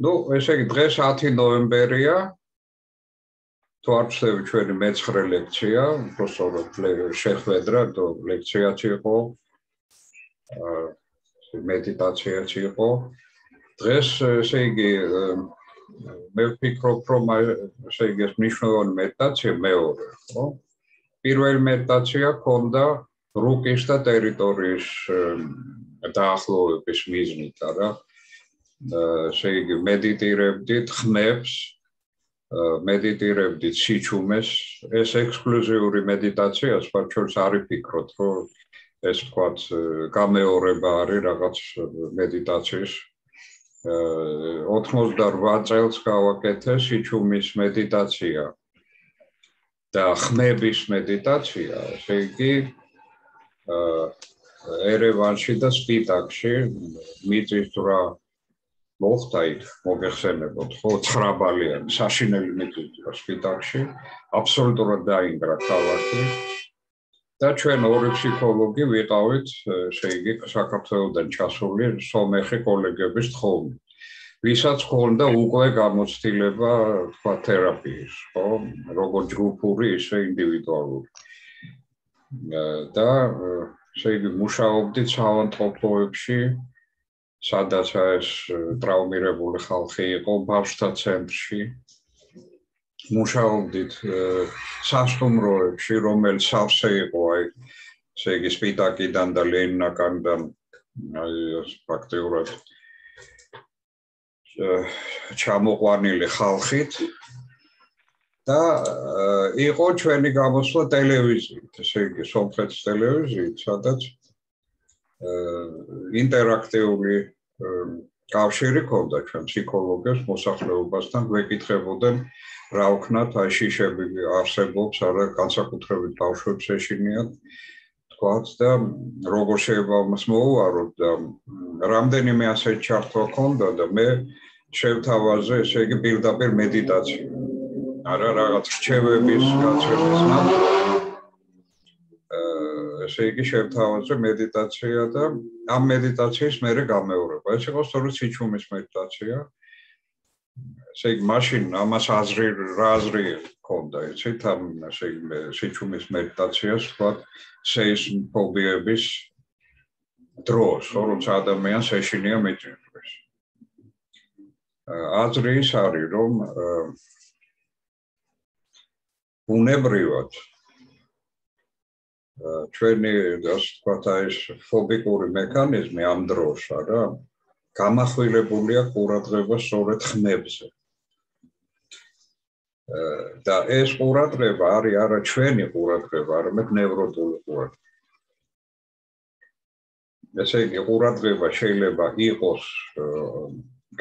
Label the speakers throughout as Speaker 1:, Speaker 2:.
Speaker 1: ნუ ესე იგი დღეს 10 ნოემბერია თუ არ ვცდები ჩვენი მე-9 ლექცია, უბრალოდ შეხვედრა, ლექციაც იყო, მედიტაციაც იყო. დღეს ესე იგი მე ვფიქრობ, რომ ესე იგი ეს მნიშვნელოვანი მედიტაცია მეორე, ხო? პირველი მედიტაცია ქონდა რუკის და ტერიტორიის დაახლოების მიზნით, არა? ესე იგი მედიტირებდით ხმებს, მედიტირებდით სიჩუმეს, ეს ექსკლუზიური მედიტაცია, სპეციალს არ იფიქროთ, რომ ეს თქვათ გამეორება არის რაღაც მედიტაციის. 88 წელს გავაკეთე სიჩუმის მედიტაცია და ხმების მედიტაცია, ესე იგი ერევანში და სპიტაკში მიწისძვრა მოხდა იქ, მოგეხსენებოდ, ხო, 9 ბალიანი საშინელი მიწისძვრა სპიტაკში, აბსოლუტურად დაინგრა ქალაქი და ჩვენ ორი ფსიქოლოგი ვიყავით, ესე იგი, საქართველოდან ჩასული სომეხი კოლეგების თხოვნით. ვისაც ჰქონდა უკვე გამოცდილება, თქვა, თერაპიის, ხო, როგორც ჯგუფური, ისე ინდივიდუალური. და ესე იგი, მუშაობდით საავადმყოფოებში, სადაც ეს ტრავმირებული ხალხი იყო ბავშვთა ცენტრში. მუშაობდით სასტუმროებში, რომელიც სავსე იყო, აი, ესე იგი, სპიტაკიდან და ლენინაკიდან, აი, პრაქტიკულად ჩამოყვანილი ხალხით და იყო ჩვენი გამოსვლა ტელევიზიით, ესე იგი, სომხეთის ტელევიზიით, სადაც ინტერაქტიული კავშირი ქონდა ჩვენ ფსიქოლოგებს მოსახლეობასთან, გვეკითხებოდნენ რა ვქნათ, აი შიშები არსებობს, არა განსაკუთრებით ბავშვებს ეშინიათ, თქვათ და როგორ შეიძლება მას მოუაროთ და რამდენიმე ასეთ ჩართვა ქონდა და მე შევთავაზე, ესე იგი, პირდაპირ მედიტაცია. არა რაღაც რჩევების გაცემის ნაცვლად ესე იგი შევთავაზე მედიტაცია და ამ მედიტაციის მერე გამეორება. ეს იყო სწორედ სიჩუმის მედიტაცია. ესე იგი მაშინ ამას აზრი ქონდა, იცით, ამ ესე იგი სიჩუმის მედიტაციას, თქვათ, სეისმოფობიების დროს, როცა ადამიანს ეშინია მიწისძვრას. აზრი ის არის, რომ ბუნებრივად ჩვენი, ასე ვთქვათ, ეს ფობიკური მექანიზმი ამ დროს, არა, გამახვილებულია ყურადღება სწორედ ხმებზე. და ეს ყურადღება არის არა ჩვენი ყურადღება, არამედ ნევროტული ყურადღება. ესე იგი, ყურადღება შეიძლება იყოს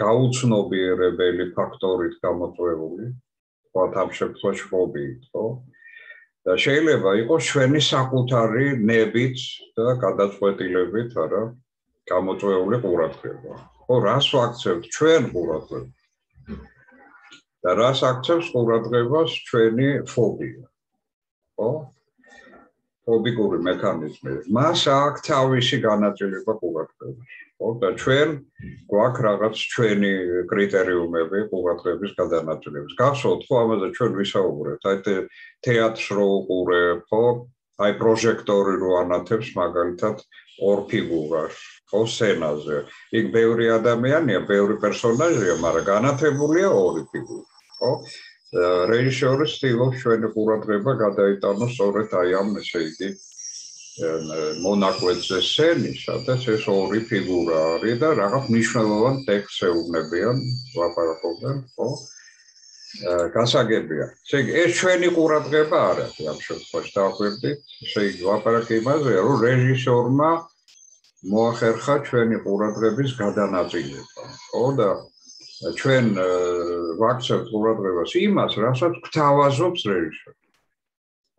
Speaker 1: გაუცნობიერებელი ფაქტორით გამოწვეული, თქვათ ამ შემთხვევაში ფობიით, ხო? და შეიძლება იყოს ჩვენი საკუთარი ნებით და გადაწყვეტილებით, არა, გამოწვეული ყურადღება. ხო, რას ვაქცევთ ჩვენ ყურადღებას? და რას აქცევს ყურადღებას ჩვენი ფობია? ხო? ფობიკური მექანიზმი. მას აქვს თავისი განაწილება ყურადღებას. ხო, და ჩვენ გვაქვს რაღაც ჩვენი კრიტერიუმები ყურადღების გადანაწილების. გახსოვთ, ხო, ამაზე ჩვენ ვისაუბრებთ, აი თეატრს რო უყურებ, ხო? აი პროჟექტორი რო ანათებს მაგალითად ორ ფიგურას, ხო, სცენაზე. იქ ბევრი ადამიანია, ბევრი პერსონაჟია, მაგრამ განათებულია ორი ფიგურა, ხო? რეჟისორი ცდილობს ჩვენი ყურადღება გადაიტანოს სწორედ აი ამ, ესე იგი, მონაკვეთზე სცენის, სადაც ეს ორი ფიგურა არის და რაღაც მნიშვნელოვან ტექსტს ეუბნებიან, ლაპარაკობენ, ხო? გასაგებია. ესე იგი, ეს ჩვენი ყურადღება არ არის ამ შემთხვევაში, დავაკვირდით. ესე იგი, ლაპარაკი იმაზეა, რომ რეჟისორმა მოახერხა ჩვენი ყურადღების გადანაწილება, ხო და ჩვენ ვაქცევთ ყურადღებას იმას, რასაც გვთავაზობს რეჟისორი.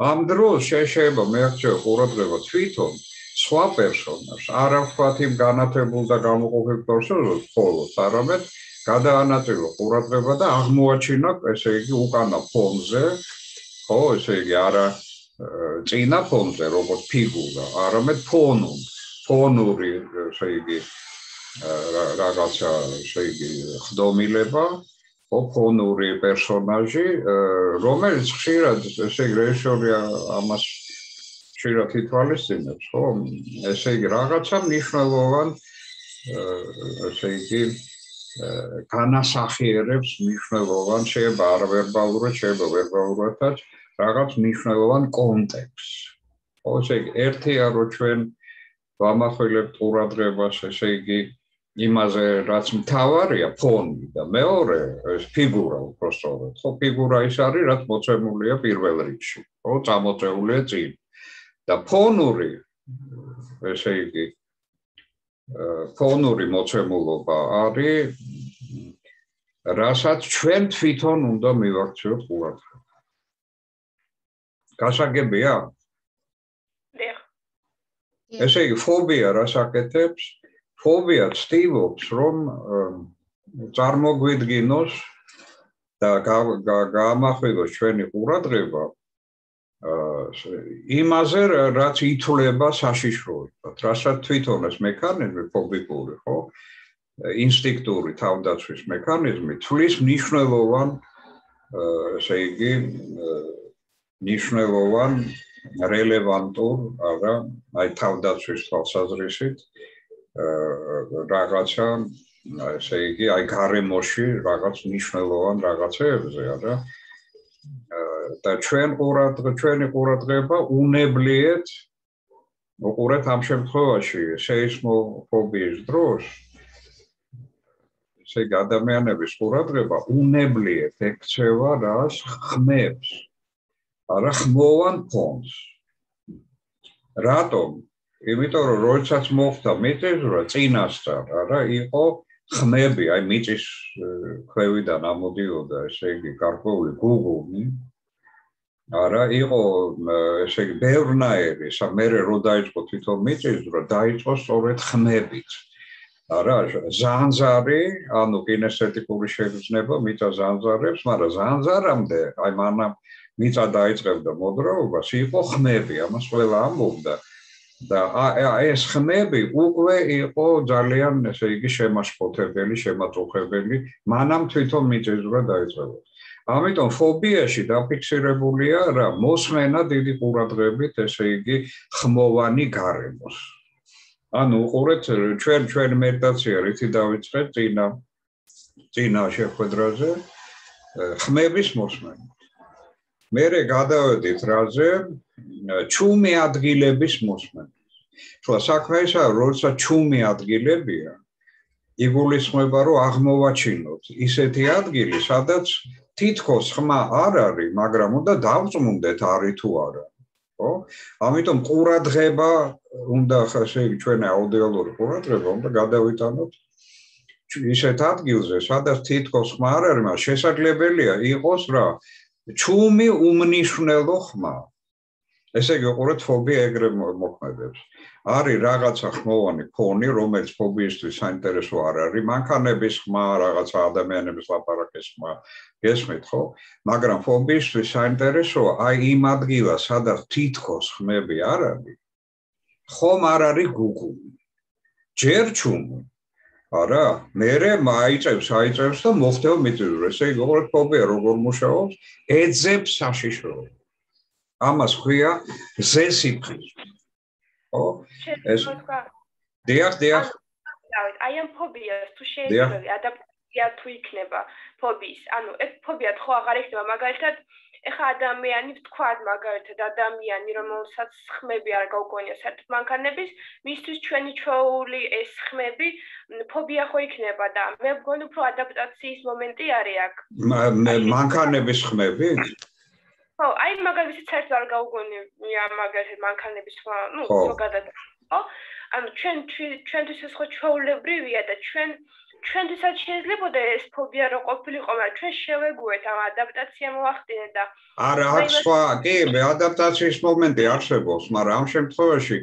Speaker 1: ამ დროს შეიძლება მეაქცევ ყურადღება თვითონ სხვა პერსონაჟს, არა ვთქვათ იმ განათებულ და გამოყოფილ პერსონაჟს მხოლოდ, არამედ გადაანაწილო ყურადღება და აღმოაჩინა, ესე იგი, უკანა ფონზე, ხო, ესე იგი, არა წინა ფონზე, როგორც ფიგურა, არამედ ფონური, ესე იგი, რაღაცა შეიგი ხდომილება, ფონური პერსონაჟი, რომელიც ხშირად ესე იგი რეჟისორი ამას ხშირად ითვალისწინებს, ხო? ესე იგი რაღაცა მნიშვნელოვან ესე იგი განასახიერებს მნიშვნელოვან შეიძლება არ ვერბალურად, შეიძლება ვერბალურადაც რაღაც მნიშვნელოვან კონტექსტს. ხო, ესე იგი ერთია რომ ჩვენ ვამახვილებთ ყურადღებას, ესე იგი იმაზე, რაც მთავარია, ფონი და მეორე ეს ფიგურა უბრალოდ, ხო, ფიგურა ის არის, რაც მოცემულია პირველ რიგში, ხო, წამოწეულია წინ. და ფონური, ესე იგი, ფონური მოცემულობა არის, რასაც ჩვენ თვითონ უნდა მივაქციოთ ყურადღება. გასაგებია? ესე იგი, ფობია რას აკეთებს? ფობია ცდილობს, რომ წარმოგვიდგინოს და გაამახვილოს ჩვენი ყურადღება იმაზე, რაც ითვლება საშიშროებად, რასაც თვითონაც მექანიზმი ფობიკური, ხო? ინსტინქტური თავდაცვის მექანიზმი თვლის მნიშვნელოვან, ესე იგი, მნიშვნელოვან რელევანტურ, არა, აი თავდაცვის თვალსაზრისით რაღაცა, ესე იგი, აი გარემოში რაღაც მნიშვნელოვან რაღაცებზე, არა? და ჩვენი ყურადღება უნებლიეთ უყურეთ ამ შემთხვევაში სეისმოფობიის დროს ესე იგი ადამიანების ყურადღება უნებლიეთ ექცევა რას ხმებს არა ხმოვან ფონს რატომ იმიტომ რომ როდესაც მოხდა მიწისძვრა წინასწარ არა იყო ხმები აი მიწის ქვევიდან ამოდიოდა ესე იგი გარკვეული გუგუმი არა იყო ესე იგი ბევრნაირი მერე რო დაიწყო თვითონ მიწისძვრა დაიწყო სწორედ ხმებით არა ზანზარი ანუ კინესთეტიკური შეგრძნება მიწა ზანზარებს მაგრამ ზანზარამდე აი მანამ მიწა დაიწყებდა მოძრაობას იყო ხმები ამას ყველა ამბობდა და ეს ხმები უკვე იყო ძალიან ესე იგი შემაშფოთებელი შემაწუხებელი მანამ თვითონ მიწისძვრა დაიწყება ამიტომ ფობიაში დაფიქსირებულია რა მოსმენა დიდი ყურადღებით ესე იგი ხმოვანი გარემოს ანუ უყურეთ ჩვენ მედიტაცია რითი დავიწყეთ წინა შეხვედრაზე ხმების მოსმენა მერე გადავედით რაზე ჩუმი ადგილების მოსმენა ხო საქმე ისაა როცა ჩუმი ადგილებია იგულისხმება რომ აღმოვაჩინოთ ისეთი ადგილი სადაც თითქოს ხმა არ არის მაგრამ უნდა დავწმუნდეთ არის თუ არა ხო ამიტომ ყურადღება უნდა ესე იგი ჩვენი აუდიალური ყურადღება უნდა გადავიტანოთ ისეთ ადგილზე სადაც თითქოს ხმა არ არის მაგრამ შესაძლებელია იყოს რა ჩუმი უმნიშვნელო ხმა ესე იგი უყურეთ ფობია ეგრე მოქმედებს არის რაღაცა ხმოვანი ფონი რომელიც ფობიისთვის საინტერესო არ არის მანქანების ხმა რაღაცა ადამიანების ლაპარაკის ხმა გესმით ხო მაგრამ ფობიისთვის საინტერესოა აი იმ ადგილას სადაც თითქოს ხმები არ არის ხომ არ არის გუგუმი ჯერ ჩუმი არა მერე აიწევს და მოხდება მიწისძვრა ესე იგი უყურეთ ფობია როგორ მუშაობს ეძებს საშიშროებას ამას ქვია ზესიფხიზმი ხო ეს დიახ
Speaker 2: აი ამ ფობიას თუ შეიძლება ადაპტაცია თუ იქნება ფობიის ანუ ეს ფობია ხო აღარ იქნება მაგალითად ეხა ადამიანი ვთქვათ მაგალითად ადამიანი რომელსაც ხმები არ გაუგონია საერთოდ მანქანების მისთვის ჩვენი ჩვეული ეს ხმები ფობია ხო იქნება და მე მგონი უფრო ადაპტაციის მომენტი არის აქ
Speaker 1: მანქანების ხმები
Speaker 2: ხო აი მაგალითად საერთოდ არ გაუგონია მაგალითად მანქანების ხმა ნუ ზოგადად ხო ანუ ჩვენთვის ეს ხო ჩვეულებრივია და ჩვენთვისაც შეიძლება ეს ფობია რო ყოფილიყო მაგრამ ჩვენ შევეგუეთ ამ ადაპტაცია მოახდინეთ და
Speaker 1: არა აქ სხვა კი ადაპტაციის მომენტი არსებობს მაგრამ ამ შემთხვევაში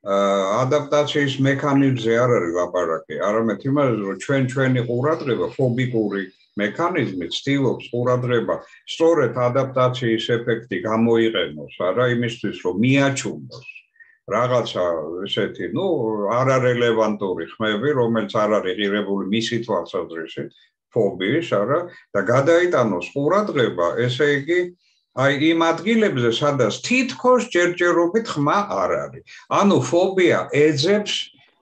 Speaker 1: ადაპტაციის მექანიზმზე არ არის ლაპარაკი არამედ იმაზე რომ ჩვენი ყურადღება ფობიკური მექანიზმი ცდილობს ყურადღება სწორედ ადაპტაციის ეფექტი გამოიყენოს არა იმისთვის რომ მიაჩუმოს რაღაცა ესეთი, არარელევანტური ხმები, რომელიც არ არის ღირებული მისი თვალსაზრისით, ფობიის, არა, და გადაიტანოს ყურადღება, ესე იგი, აი იმ ადგილებზე, სადაც თითქოს ჯერჯერობით ხმა არ არის. ანუ ფობია ეძებს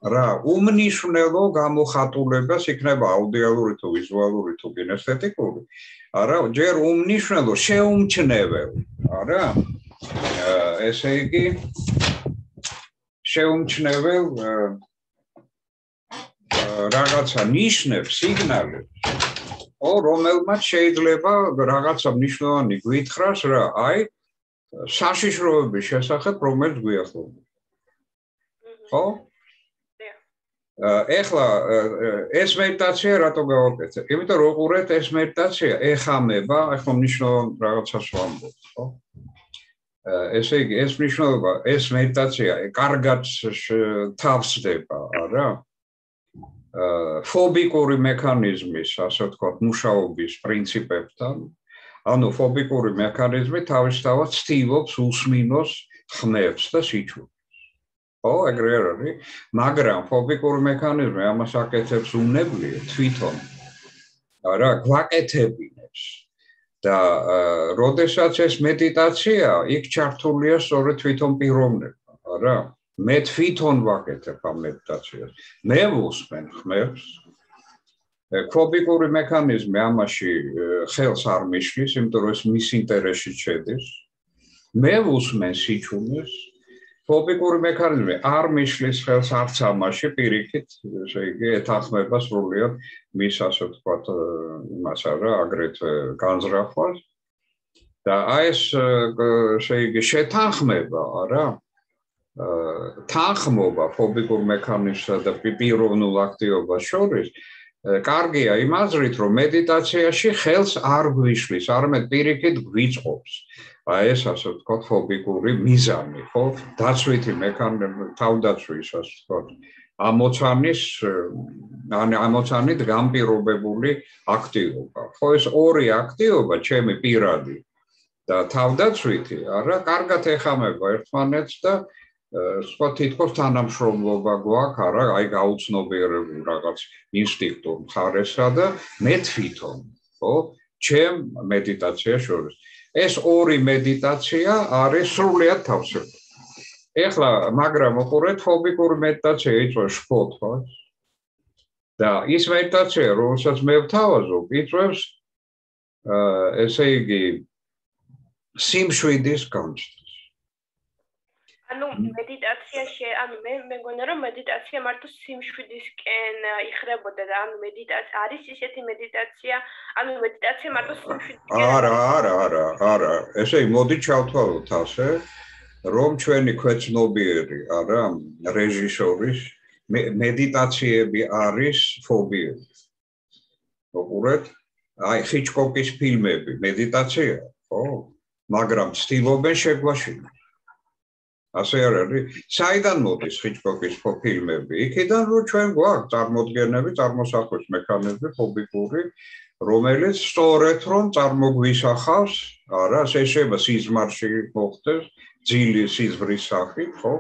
Speaker 1: რა უმნიშვნელო გამოხატულებას იქნება აუდიალური თუ ვიზუალური თუ კინესთეტიკური, არა, ჯერ უმნიშვნელო შეუმჩნევლ, არა? ესე იგი შეუმჩნევლ რაღაცა ნიშნებს, სიგნალებს, რომელმაც შეიძლება რაღაცა მნიშვნელოვანი გვითხრას რა, აი საშიშროების შესახებ, რომელიც გვიახლოვდება. ხო? ეხლა ეს მედიტაცია რატო გავაკეთე? იმიტომ რომ უყურეთ ეს მედიტაცია ეხამება, ახლა მნიშვნელოვან რაღაცას ვამბობ, ხო? ესე იგი ეს მნიშვნელობა, ეს მედიტაცია კარგად თავსდება, არა? ფობიკური მექანიზმის, ასე ვთქვათ, მუშაობის პრინციპებთან. ანუ ფობიკური მექანიზმი თავისთავად ცდილობს უსმინოს ხმებს და სიჩუქრებს. ხო, ეგრე არ არის, მაგრამ ფობიკური მექანიზმი ამას აკეთებს უნებლიე თვითონ. არა, გვაკეთებინებს. და როდესაც ეს მედიტაცია, იქ ჩართულია სწორედ თვითონ პიროვნება, არა? მე თვითონ ვაკეთებ ამ მედიტაციას. მე ვუსმენ ხმებს. ფობიკური მექანიზმი ამაში ხელს არ მიშლის, იმიტომ რომ ეს მის ინტერესში შედის. მე ვუსმენ სიჩუმეს. ფობიკური მექანიზმი არ მიშლის ხელს არც ამაში, პირიქით, ესე იგი, ეთანხმება სრულიად მის, ასე ვთქვათ, იმას არა, აგრეთვე განზრახვას. და აი ეს, ესე იგი, შეთანხმება, არა? თანხმობა ფობიკურ მექანიზმსა და პიროვნულ აქტივობას შორის კარგია იმ აზრით, რომ მედიტაციაში ხელს არ გვიშლის, არამედ პირიქით გვიწყობს. აი ეს ასე ვთქვათ ფობიკური მიზანი, ხო? დაცვითი მექანიზმი, თავდაცვის, ასე ვთქვათ, ამოცანით განპირობებული აქტივობა. ხო, ეს ორი აქტივობა, ჩემი პირადი და თავდაცვითი, არა, კარგად ეხამება ერთმანეთს და სხვა თითქოს თანამშრომლობა გვაქვს, არა, აი გაუცნობიერებულ რაღაც ინსტინქტურ მხარესა და მე თვითონ, ხო, ჩემ მედიტაციას შორის. ეს ორი მედიტაცია არის სრულიად თავსებული. ეხლა, მაგრამ უყურეთ, ფობიკური მედიტაცია იწვევს შფოთვას და ის მედიტაცია, რომელსაც მე ვთავაზობ, იწვევს ესე იგი სიმშვიდის გამჩნევას.
Speaker 2: ანუ მედიტაციაში, ანუ მე მეგონა რომ მედიტაცია მარტო სიმშვიდისკენ იხრებოდა და ანუ მედიტაცია არის ისეთი მედიტაცია, ანუ მედიტაცია მარტო სიმშვიდისკენ.
Speaker 1: არა. ესე იგი მოდი ჩავთვალოთ ასე, რომ ჩვენი ქვეცნობიერი, არა, რეჟისორის მედიტაციები არის ფობიები. უყურეთ, აი ჰიჩკოკის ფილმები მედიტაცია, ხო? მაგრამ ცდილობენ შეგვაშინოს. ასე არ არის? საიდან მოდის ჰიჩკოკის ფილმები? იქიდან რომ ჩვენ გვაქვს წარმოდგენები, წარმოსახვის მექანიზმი ფობიკური, რომელიც სწორედ რომ წარმოგვისახავს, არა, შეიძლება სიზმარში მოხდეს, ძილი სიზმრის სახით, ხო?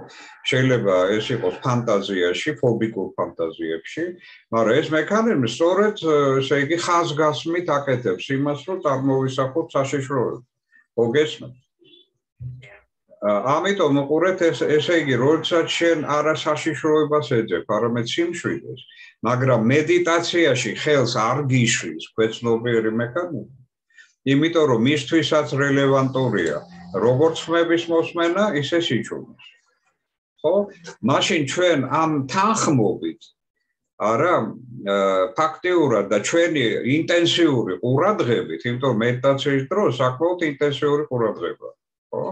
Speaker 1: შეიძლება ეს იყოს ფანტაზიაში, ფობიკურ ფანტაზიებში, მაგრამ ეს მექანიზმი სწორედ, ესე იგი, ხაზგასმით აკეთებს იმას, რომ წარმოვისახოთ საშიშროებას. ხო, გესმენთ? ამიტომ უყურეთ ესე იგი, როდესაც შენ არა საშიშროებას ეძებ, არამედ სიმშვიდეს, მაგრამ მედიტაციაში ხელს არ გიშლის ქვეცნობიერი მექანიზმი, იმიტომ რომ მისთვისაც რელევანტურია როგორც ხმების მოსმენა, ისე სიჩუმეს. ხო? მაშინ ჩვენ ამ თანხმობით, არა, ფაქტიურად და ჩვენი ინტენსიური ყურადღებით, იმიტომ მედიტაციის დროს საკმაოდ ინტენსიური ყურადღება, ხო?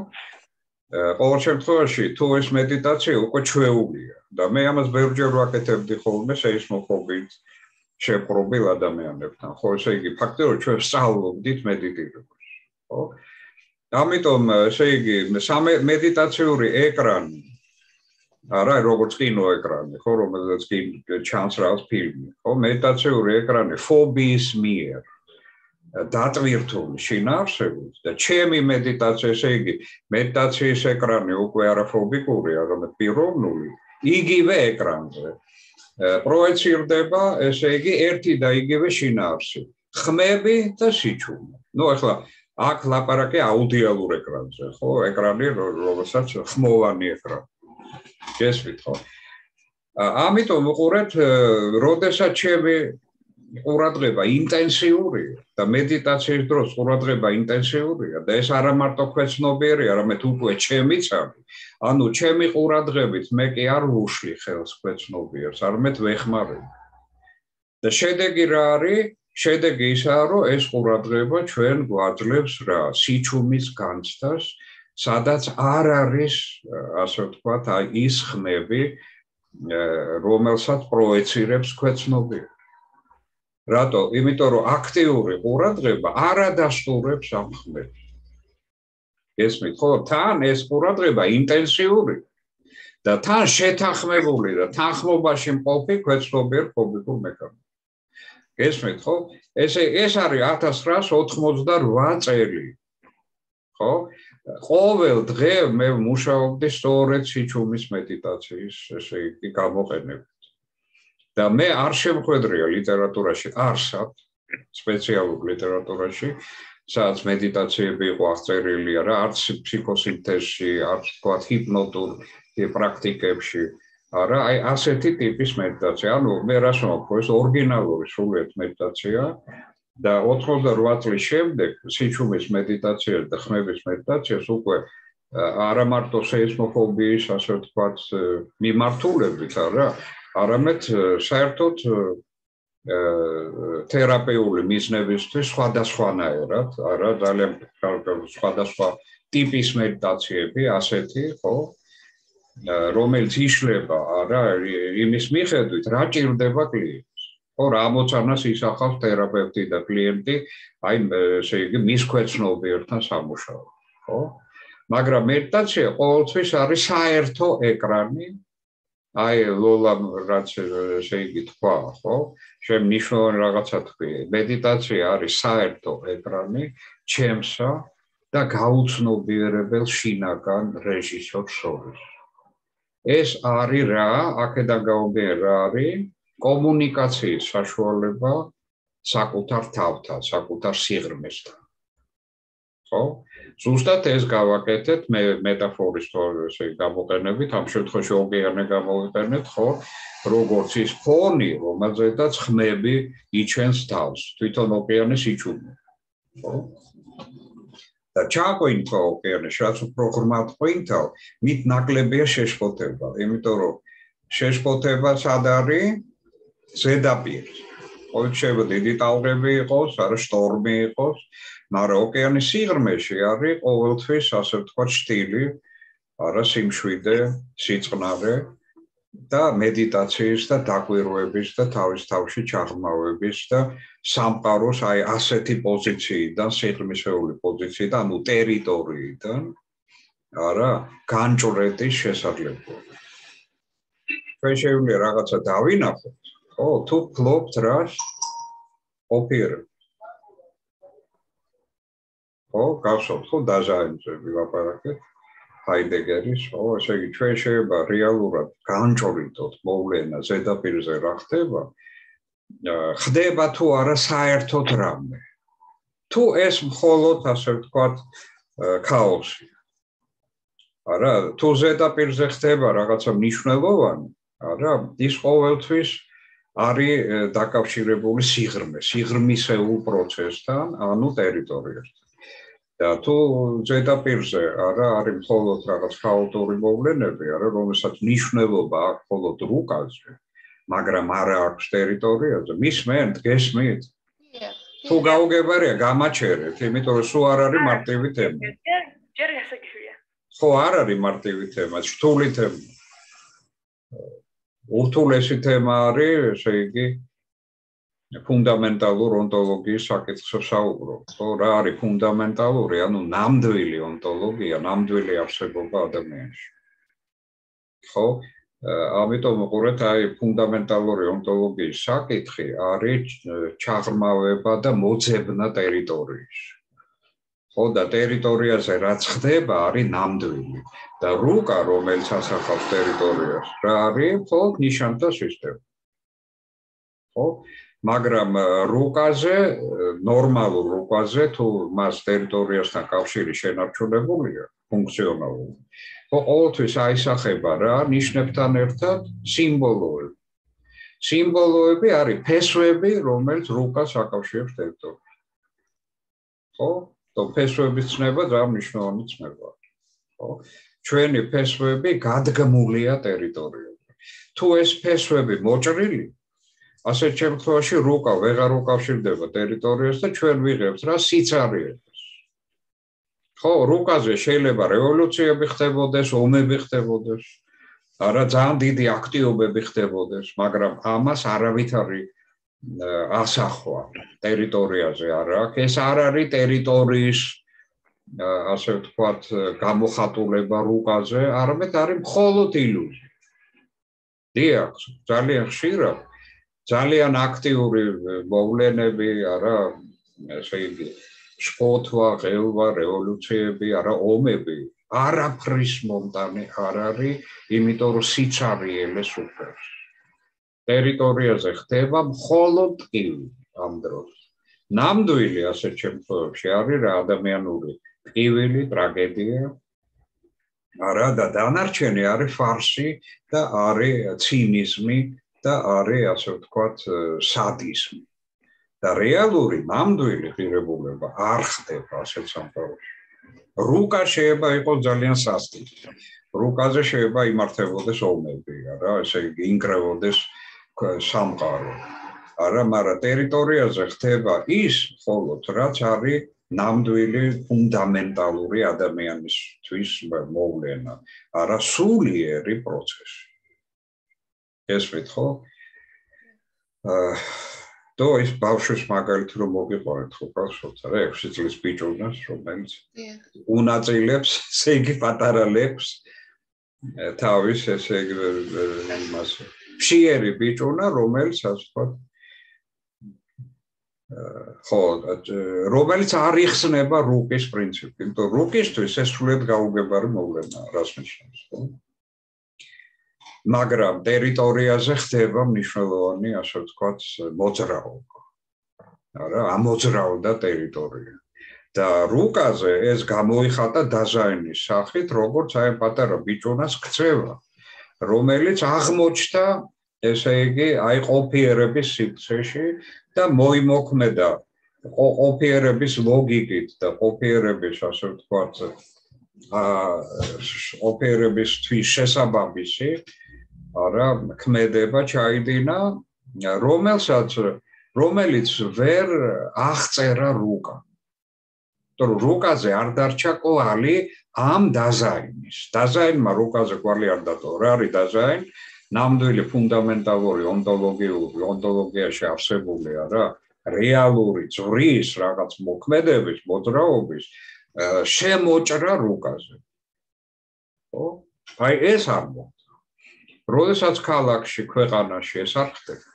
Speaker 1: ყოველ შემთხვევაში თუ ეს მედიტაცია უკვე ჩვეულია და მე ამას ბევრჯერ ვაკეთებდი ხოლმე სეისმოფობიით შეპყრობილ ადამიანებთან, ხო, ესე იგი ფაქტიურად ჩვენ სწავლობდით მედიტირებას, ხო? ამიტომ ესე იგი მედიტაციური ეკრანი, არა, როგორც კინოეკრანი, ხო, რომელზეც კი ჩანს რაღაც ფილმი, ხო, მედიტაციური ეკრანი ფობიის მიერ დატვირთული შინაარსებით და ჩემი მედიტაცია, ესე იგი, მედიტაციის ეკრანი უკვე არაფობიკური, არამედ პიროვნული, იგივე ეკრანზე პროექცირდება, ესე იგი, ერთი და იგივე შინაარსი, ხმები და სიჩუმე. ნუ ახლა აქ ლაპარაკი აუდიალურ ეკრანზე, ხო? ეკრანი, რომელსაც ხმოვანი ეკრანი. გესმით, ხო? ამიტომ უყურეთ, როდესაც ჩემი ყურადღება ინტენსიურია და მედიტაციის დროს ყურადღება ინტენსიურია და ეს არა მარტო ქვეცნობიერი, არამედ უკვე ჩემიც არის. ანუ ჩემი ყურადღებით მე კი არ ვუშლი ხელს ქვეცნობიერს, არამედ ვეხმარებ. და შედეგი რა არის? შედეგი ისაა, რომ ეს ყურადღება ჩვენ გვაძლევს რა, სიჩუმის განცდას, სადაც არ არის, ასე ვთქვათ, ის ხმები, რომელსაც პროექცირებს ქვეცნობიერი. რატო? იმიტომ რომ აქტიური ყურადღება არ ადასტურებს ამ ხმებს. გესმით, ხო? თან ეს ყურადღება ინტენსიური და თან შეთანხმებული და თანხმობაში მყოფი ქვეცნობიერ ფობიკურ მექანიზმს. გესმით, ხო? ეს არის 1988 წელი. ხო? ყოველ დღე მე მუშაობდი სწორედ სიჩუმის მედიტაციის, ესე იგი, გამოყენებით. და მე არ შემხვედრია ლიტერატურაში, არსად, სპეციალურ ლიტერატურაში, სადაც მედიტაციები იყო აღწერილი, არა, არც ფსიქოსინთეზში, არც თქვათ ჰიპნოტურ პრაქტიკებში, არა, აი ასეთი ტიპის მედიტაცია. ანუ მე რას ვამბობ, ეს ორიგინალური სრულიად მედიტაცია და 88 წლის შემდეგ სიჩუმის მედიტაციას და ხმების მედიტაციას უკვე არა მარტო სეისმოფობიის, ასე ვთქვათ, მიმართულებით, არა, არამედ საერთოდ თერაპიული მიზნებისთვის სხვადასხვანაირად, არა, ძალიან სხვადასხვა ტიპის მედიტაციები, ასეთი, ხო, რომელიც იშლება, არა, იმის მიხედვით, რა ჭირდება კლიენტს. ხო, რა ამოცანას ისახავს თერაპევტი და კლიენტი, აი, ესე იგი, მის ქვეცნობიერთან სამუშაოდ, ხო? მაგრამ მედიტაცია ყოველთვის არის საერთო ეკრანი, აი, ლოლამ რაც ესე იგი თქვა, ხო? შენ მნიშვნელოვანი რაღაცა თქვი. მედიტაცია არის საერთო ეკრანი ჩემსა და გაუცნობიერებელ შინაგან რეჟისორს შორის. ეს არის რა, აქედან გამომდინარე რა არის? კომუნიკაციის საშუალება საკუთარ თავთან, საკუთარ სიღრმესთან. ხო? ზუსტად ეს გავაკეთეთ მე მეტაფორის ესე გამოყენებით, ამ შემთხვევაში ოკეანე გამოვიყენეთ, ხო? როგორც ის ფონი, რომელზედაც ხმები იჩენს თავს, თვითონ ოკეანის იჩუმე. ხო? და ჩაყვინთო ოკეანეში, რაც უფრო ღრმად ყვინთავ, მით ნაკლებია შეშფოთება, იმიტომ რომ შეშფოთება სად არის? ზედაპირი. ხო, შეიძლება დიდი ტალღები იყოს, არა შტორმი იყოს, მაგრამ ოკეანის სიღრმეში არის ყოველთვის, ასე ვთქვათ, შტილი, არა სიმშვიდე, სიწყნარე და მედიტაციის და დაკვირვების და თავის თავში ჩაღრმავების და სამყაროს აი ასეთი პოზიციიდან, სიღრმისეული პოზიციიდან, ანუ ტერიტორიიდან, არა, განჭრედის შესაძლებლობა. ჩვენ შეგვიძლია რაღაცა დავინახოთ, ხო, თუ ფლობთ რას ოპერა. ხო, გახსოვთ, ხო, დაზაინჯები ლაპარაკეთ. ჰაიდეგერის, ხო, ესე იგი ჩვენ შეიძლება რეალურად განჭრიდოთ მოვლენა ზედაპირზე რა ხდება, ხდება თუ არა საერთოდ რამე. თუ ეს მხოლოდ, ასე ვთქვათ, ქაოსია. არა, თუ ზედაპირზე ხდება რაღაცა მნიშვნელოვანი, არა, ის ყოველთვის არის დაკავშირებული სიღრმისეულ პროცესთან, ანუ ტერიტორიასთან. და თუ ზედაპირზე არა არის მხოლოდ რაღაც ქაოტური მოვლენები, არა, რომელსაც მნიშვნელობა აქვს მხოლოდ რუკაზე, მაგრამ არა აქვს ტერიტორიაზე, მისმენთ, გესმით? თუ გაუგებარია, გამაჩერეთ, იმიტომ რომ სულ არ არის მარტივი თემა.
Speaker 2: ჯერ გასაგებია.
Speaker 1: ხო, არ არის მარტივი თემა, რთული თემა. ურთულესი თემა არის, ესე იგი, ფუნდამენტალურ ონტოლოგიის საკითხზე საუბრობ. ხო, რა არის ფუნდამენტალური, ანუ ნამდვილი ონტოლოგია, ნამდვილი არსებობა ადამიანში. ხო, ამიტომ უყურეთ, აი ფუნდამენტალური ონტოლოგიის საკითხი არის ჩაღრმავება და მოძებნა ტერიტორიის. ხო და ტერიტორიაზე რაც ხდება არის ნამდვილი და რუკა რომელიც ასახავს ტერიტორიას რა არის მხოლოდ ნიშანთა სისტემა. ხო მაგრამ რუკაზე ნორმალურ რუკაზე თუ მას ტერიტორიასთან კავშირი შენარჩუნებულია ფუნქციონალური ხო ყოველთვის აისახება რა ნიშნებთან ერთად სიმბოლოები. სიმბოლოები არის ფესვები რომელიც რუკას აკავშირებს ტერიტორიას. ხო ფესვების ცნება ძალიან მნიშვნელოვანი ცნებაა. ხო? ჩვენი ფესვები გადგმულია ტერიტორიაზე. თუ ეს ფესვები მოჭრილი, ასეთ შემთხვევაში რუკა ვეღარ უკავშირდება ტერიტორიას და ჩვენ ვიღებთ რა სიცარიებას. ხო, რუკაზე შეიძლება რევოლუციები ხდებოდეს, ომები ხდებოდეს, არა ძალიან დიდი აქტიობები ხდებოდეს, მაგრამ ამას არავითარი ასახვა ტერიტორიაზე არ აქვს. ეს არ არის ტერიტორიის ასე ვთქვათ გამოხატულება რუკაზე, არამედ არის მხოლოდ ილუზია. დიახ, ძალიან ხშირად ძალიან აქტიური მოვლენები, არა, ესე იგი, შფოთვა, ღელვა, რევოლუციები, არა, ომები, არაფრის მომტანი არ არის, იმიტომ რომ სიცარიელეს უფერს. ტერიტორიაზე ხდება მხოლოდ ტკივილი ამ დროს. ნამდვილი ასეთ შემთხვევებში არის რა ადამიანური ტკივილი, ტრაგედია. არა და დანარჩენი არის ფარსი და არის ცინიზმი და არის ასე ვთქვათ სადიზმი. და რეალური ნამდვილი ღირებულება არ ხდება ასეთ სამყაროში. რუკა შეიძლება იყოს ძალიან სასტიკი. რუკაზე შეიძლება იმართებოდეს ომები, არა, ესე იგი ინკრებოდეს სამყარო. არა, მაგრამ ტერიტორიაზე ხდება ის მხოლოდ რაც არის ნამდვილი ფუნდამენტალური ადამიანისთვის მოვლენა, არა სულიერი პროცესი. ესმით ხო? და ის ბავშვის მაგალითი რომ მოგიყვანეთ ხო ბავშვს, რა 6 წლის ბიჭუნას, რომელიც უნაწილებს, ესე იგი პატარა ლექს თავის ესე იგი იმას ფშიერი ბიჭუნა, რომელიც ასე ვთქვათ ხო, რომელიც არ იხსნება რუკის პრინციპი, იმიტომ რუკისთვის ეს სრულიად გაუგებარი მოვლენაა, რას ნიშნავს, ხო? მაგრამ ტერიტორიაზე ხდება მნიშვნელოვანი, ასე ვთქვათ, მოძრაობა. არა, ამოძრავდა ტერიტორია. და რუკაზე ეს გამოიხატა დაზაინის სახით, როგორც აი პატარა ბიჭუნას ქცევა, რომელიც აღმოჩნდა, ესე იგი, აი ყოფიერების სივრცეში და მოიმოქმედა ყოფიერების ლოგიკით და ყოფიერების, ასე ვთქვათ, ოპერებისთვის შესაბამისი არა ქმედება ჩაიდინა რომელიც ვერ აღწერა რუკა. თორე რუკაზე არ დარჩა კვალი ამ დაზაინის. დაზაინმა რუკაზე კვალი არ დატოვა. რა არის დაზაინი? ნამდვილი ფუნდამენტალური ონტოლოგიაში არსებული არა რეალური ძვრის რაღაც მოქმედების, მოძრაობის შემოჭრა რუკაზე. ხო? აი ეს არ მოხდა. როდესაც ქალაქში, ქვეყანაში ეს არ ხდება.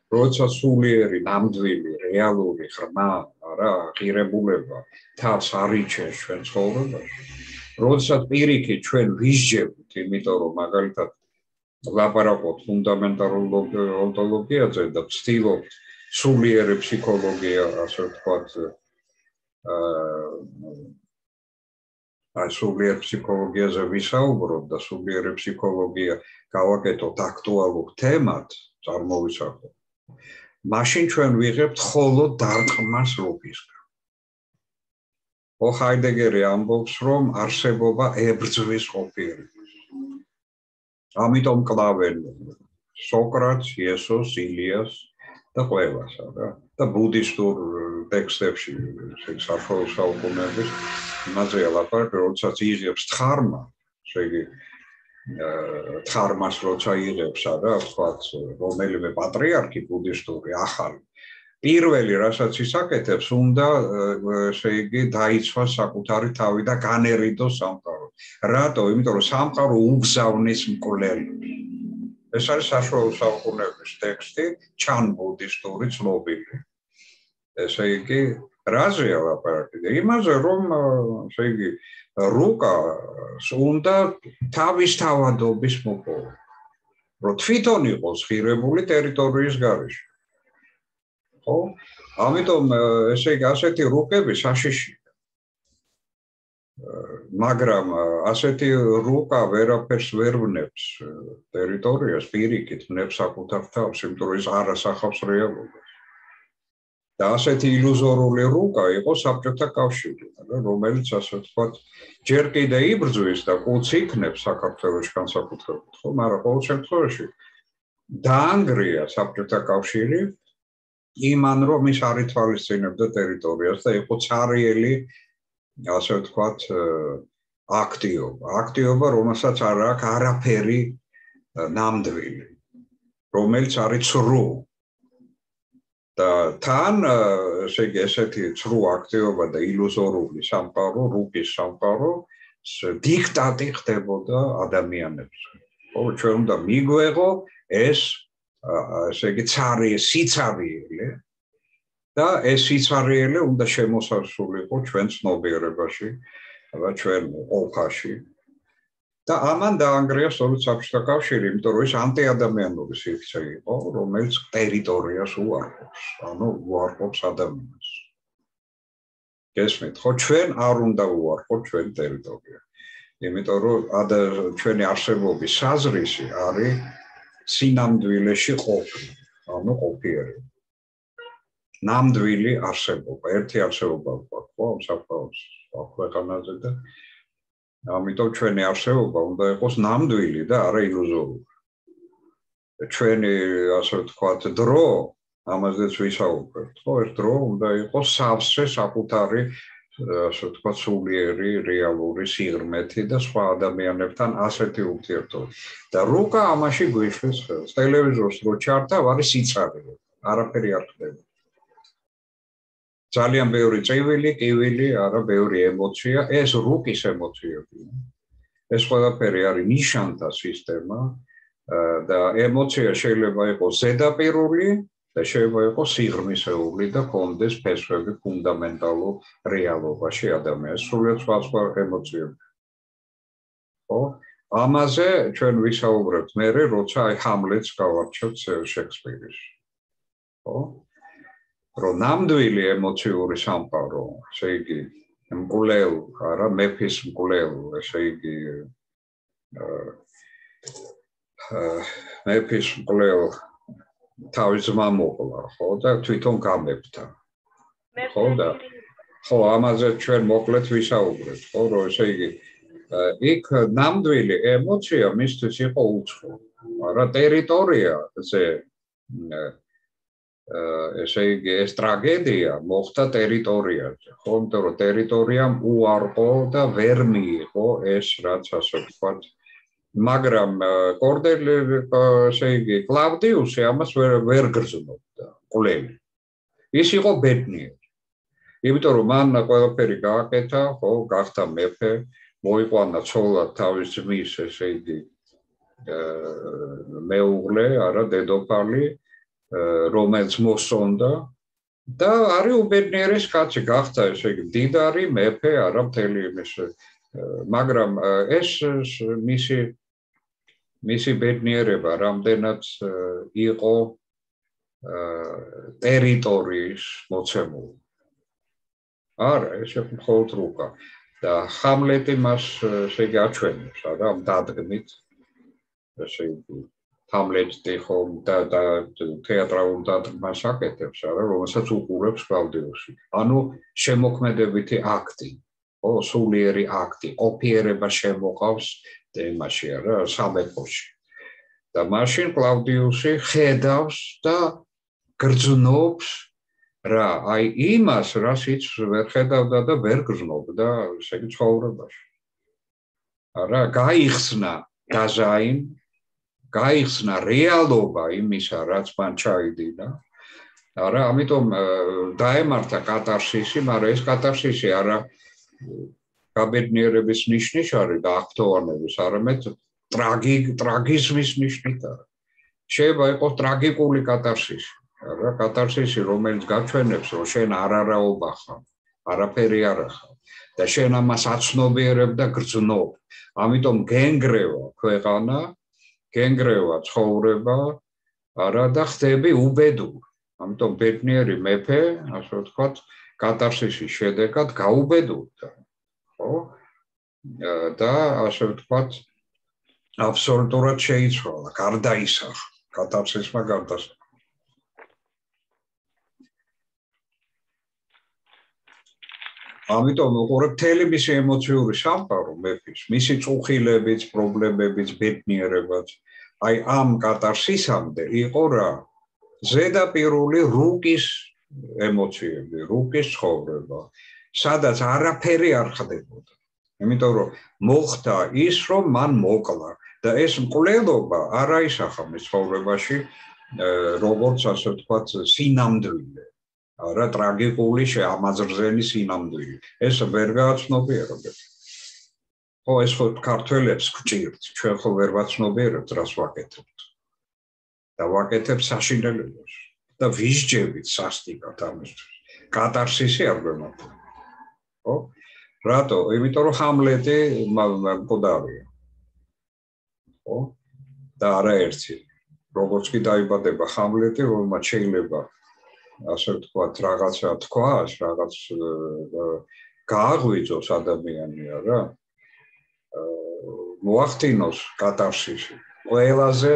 Speaker 1: როდესაც სულიერი, ნამდვილი, რეალური ღრმა, არა, ღირებულება თავს არიჩენს ჩვენ ცხოვრებაში. როდესაც პირიქით ჩვენ ვისჯებთ, იმიტომ რომ მაგალითად ლაპარაკობთ ფუნდამენტალურ ონტოლოგიაზე და ვცდილობთ სულიერი ფსიქოლოგია, ასე ვთქვათ, სულიერ ფსიქოლოგიაზე ვისაუბროთ და სულიერი ფსიქოლოგია გავაკეთოთ აქტუალურ თემად, წარმოვისახოთ. მაშინ ჩვენ ვიღებთ მხოლოდ დარტყმას რუკისგან. ხო, ჰაიდეგერი ამბობს, რომ არსებობა ებრძვის ყოფიერებას. ამიტომ კლავენ სოკრატს, იესოს, ილიას და ყველას, რა. და ბუდისტურ ტექსტებში, საშუალო საუკუნეების იმაზე ლაპარაკი, როდესაც იღებს თხარმა, ესე იგი თხარმას როცა იღებს, რა, ვთქვათ, რომელიმე პატრიარქი ბუდისტური ახალი. პირველი, რასაც ის აკეთებს, უნდა, ესე იგი, დაიცვას საკუთარი თავი და განერიდოს სამყარო. რატო? იმიტომ რომ სამყარო უგზავნის მკვლელი. ეს არის საშუალო საუკუნეების ტექსტი, ჩანბუდისტური ცნობილი. ესე იგი, რაზეა ლაპარაკი? იმაზე, რომ ესე იგი, რუკას უნდა თავისთავადობის მოპოვა. რომ თვითონ იყოს ღირებული ტერიტორიის გარეშე. ხო? ამიტომ ესე იგი, ასეთი რუკები საშიშია. მაგრამ ასეთი რუკა ვერაფერს ვერ ვნებს ტერიტორიას, პირიქით ვნებს საკუთარ თავს, იმიტომ რომ ის არ ასახავს რეალობას. და ასეთი ილუზორული რუკა იყო საბჭოთა კავშირი, რომელიც ასე ვთქვათ, ჯერ კიდე იბრძვის და კუც იქნებს საქართველოში განსაკუთრებით, ხო, მაგრამ ყოველ შემთხვევაში დაანგრია საბჭოთა კავშირი იმან, რომ ის არ ითვალისწინებდა ტერიტორიას და იყო ცარიელი ასე ვთქვათ, აქტიობა, რომელსაც არ აქვს არაფერი ნამდვილი, რომელიც არის ცრუ. და თან, ესე იგი, ესეთი ცრუ აქტიობა და ილუზორული სამყარო, რუკის სამყარო, დიქტატი ხდებოდა ადამიანებს. ხო, ჩვენ უნდა მიგვეღო ეს, ესე იგი, სიცარიელი და ეს სიცარიელი უნდა შემოსასრულიყო ჩვენ ცნობიერებაში და ჩვენ ყოფაში. და ამან დაანგრია სწორედ საბჭოთა კავშირი, იმიტომ რომ ეს ანტიადამიანური სივრცე იყო, რომელიც ტერიტორიას უარყოფს, ანუ უარყოფს ადამიანს. გესმით, ხო, ჩვენ არ უნდა უარყოფთ ჩვენ ტერიტორია. იმიტომ რომ ჩვენი არსებობის საზრისი არის სინამდვილეში ყოფნა, ანუ ყოფიერება. ნამდვილი არსებობა, ერთი არსებობა გვაქვს, ხო, ამ საფრთხეს ქვეყანაზე და ამიტომ ჩვენი არსებობა უნდა იყოს ნამდვილი და არა ილუზორული. ჩვენი, ასე ვთქვათ, დრო, ამაზეც ვისაუბრებთ, ხო, ეს დრო უნდა იყოს სავსე საკუთარი, ასე ვთქვათ, სულიერი, რეალური სიღრმეთი და სხვა ადამიანებთან ასეთი ურთიერთობა. და რუკა ამაში გვიშლის ხელს. ტელევიზორს რო ჩართავ, არის სიცარიე, არაფერი არ ხდება. ძალიან ბევრი წივილი, კივილი, არა ბევრი ემოცია, ეს რუკის ემოციებია. ეს ყველაფერი არის ნიშანთა სისტემა და ემოცია შეიძლება იყოს ზედაპირული და შეიძლება იყოს სიღრმისეული და კონდეს ფესვები ფუნდამენტალურ რეალობაში ადამიანს, სრულიად სხვა ემოციები. ხო? ამაზე ჩვენ ვისაუბრებთ მერე, როცა აი ჰამლეტს გავარჩევთ შექსპირის. ხო? რომ ნამდვილი ემოციური სამყარო, ესე იგი, მკვლელ, არა, მეფის მკვლელ, ესე იგი, მეფის მკვლელ თავის ძმა მოყლა, ხო, და თვითონ გამეფთა. ხო, და ხო, ამაზე ჩვენ მოკლედ ვისაუბრებთ, ხო, რომ ესე იგი, იქ ნამდვილი ემოცია მისთვის იყო უცხო. არა, ტერიტორიაზე ესე იგი, ეს ტრაგედია მოხდა ტერიტორიაზე, ხო, იმიტომ რომ ტერიტორიამ უარყო და ვერ მიიღო ეს, რაც ასე ვთქვათ, მაგრამ ესე იგი, კლავდიუსი ამას ვერ გრძნობდა, მკვლელი. ის იყო ბედნიერი. იმიტომ რომ მან ყველაფერი გააკეთა, ხო, გახდა მეფე, მოიყვანა ცოლად თავის ძმის, ესე იგი, მეუღლე, არა, დედოფალი, რომელიც მოსონდა და არის უბედნიერის კაცი, გახდა, ესე იგი, მდიდარი მეფე, არა მთელი იმის, მაგრამ ეს მისი ბედნიერება რამდენად იყო ტერიტორიის მოცემული. არა, ეს იყო მხოლოდ რუკა და ჰამლეტი მას, ესე იგი, აჩვენებს, არა, ამ დადგმით, ესე იგი, ჰამლეტი ხომ და თეატრალურ დადგმას აკეთებს, არა, რომელსაც უყურებს კლავდიუსი. ანუ შემოქმედებითი აქტი, ხო, სულიერი აქტი, ყოფიერება შემოყავს იმაში, არა, სამეფოში. და მაშინ კლავდიუსი ხედავს და გრძნობს რა, აი იმას, რასიც ვერ ხედავდა და ვერ გრძნობდა, ესე იგი, ცხოვრებაში. არა, გაიხსნა დაზაინ, გაიხსნა რეალობა იმისა, რაც მან ჩაიდინა. არა, ამიტომ დაემართა კატარსისი, მაგრამ ეს კატარსისი არა გაბედნიერების ნიშნის არის და აღფრთოვანების, არამედ ტრაგიზმის ნიშნით არის. შეიძლება იყოს ტრაგიკული კატარსისი, რა კატარსისი, რომელიც გაჩვენებს, რომ შენ არაობა ხარ, არაფერი არ ხარ და შენ ამას აცნობიერებ და გრძნობ. ამიტომ გენგრევა ქვეყანა, გენგრევა ცხოვრება, არა და ხდები უბედური. ამიტომ ბედნიერი მეფე, ასე ვთქვათ, კატარსისის შედეგად გაუბედურდა. ხო? და ასე ვთქვათ, აბსოლუტურად შეიცვალა, გარდაისახა, კატარსისმა გარდაისახა. ამიტომ უყურებ მთელი მისი ემოციური სამყარო მეფის, მისი წუხილებიც, პრობლემებიც, ბედნიერებაც, აი ამ კატარსისამდე იყო რა ზედაპირული რუკის ემოციები, რუკის ცხოვრება, სადაც არაფერი არ ხდებოდა. იმიტომ რომ მოხდა ის, რომ მან მოკლა და ეს მკვლელობა არ აისახა მის ცხოვრებაში, როგორც ასე ვთქვათ, სინამდვილე. არა ტრაგიკული ამაზრზენი სინამდვილე. ეს ვერ გააცნობიერებთ. ხო, ეს ხო ქართველებს გჭირთ, ჩვენ ხო ვერ ვაცნობიერებთ, რას ვაკეთებთ. და ვაკეთებთ საშინელებას და ვისჯებით სასტიკად ამისთვის. კატარსისი არ გვემართება. ხო? რატო? იმიტომ რომ ჰამლეტი მკვდარია. ხო? და არაერთი. როგორც კი დაიბადება ჰამლეტი, რომელმაც შეიძლება ასე ვთქვათ, რაღაცა თქვას, რაღაც გააღვიძოს ადამიანი რა. მოახდინოს კატარსისი. ყველაზე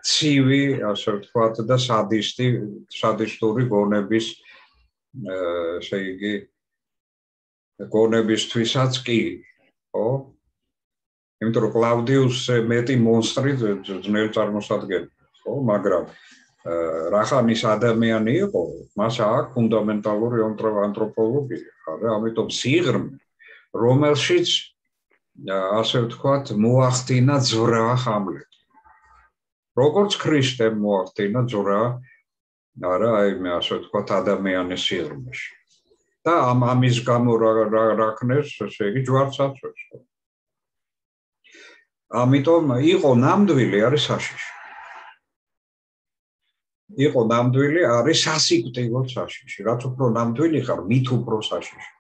Speaker 1: ცივი, ასე ვთქვათ, და სადისტური გონების, ესე იგი, გონებისთვისაც კი, ხო? იმიტომ რომ კლავდიუსზე მეტი მონსტრი ძნელ წარმოსადგენია, ხო? მაგრამ რახანის ადამიანი იყო, მას აქვს ფუნდამენტალური ანთროპოლოგია, რა, ამიტომ სიღრმე, რომელშიც ასე ვთქვათ, მოახდინა ძვრა ჰამლეტი. როგორც ქრისტემ მოახდინა ძვრა, არა, აი მე ასე ვთქვათ, ადამიანის სიღრმეში. და ამის გამო რა ქნეს, ესე იგი, ჯვარცაცვეს. ამიტომ იყო ნამდვილი, არის საშიში. იყო ნამდვილი, არის სასიკვდილო საშიში. რაც უფრო ნამდვილი ხარ, მით უფრო საშიში.